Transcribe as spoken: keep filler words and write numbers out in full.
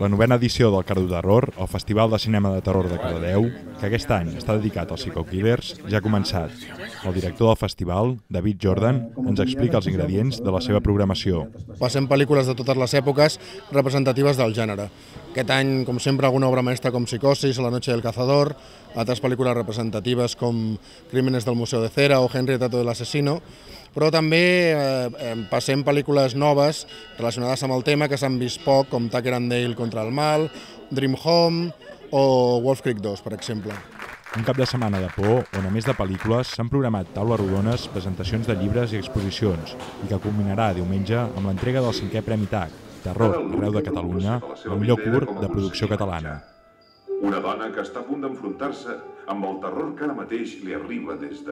La novena edició del Cardo Terror, el Festival de Cinema de Terror de Cardedeu, que aquest any està dedicat als Psycho Killers, ja ha començat. El director del festival, David Jordan, ens explica els ingredients de la seva programació. Passem pel·lícules de totes les èpoques representatives del gènere. Aquest any, com sempre, alguna obra mestra com Psicosis o La noche del cazador, altres pel·lícules representatives com Crímenes del Museu de Cera o Henry retrato del asesino, però també eh, passem pel·lícules noves relacionades amb el tema que s'han vist poc, com Tucker and Dale contra el mal, Dream Home o Wolf Creek dos, per exemple. Un cap de setmana de por on, a més de pel·lícules, s'han programat taules rodones, presentacions de llibres i exposicions, i que culminarà diumenge amb l'entrega del cinquè Premi T A C, Terror arreu de Catalunya, el millor curt de producció catalana. Una dona que està a punt d'enfrontar-se amb el terror que ara mateix li arriba des de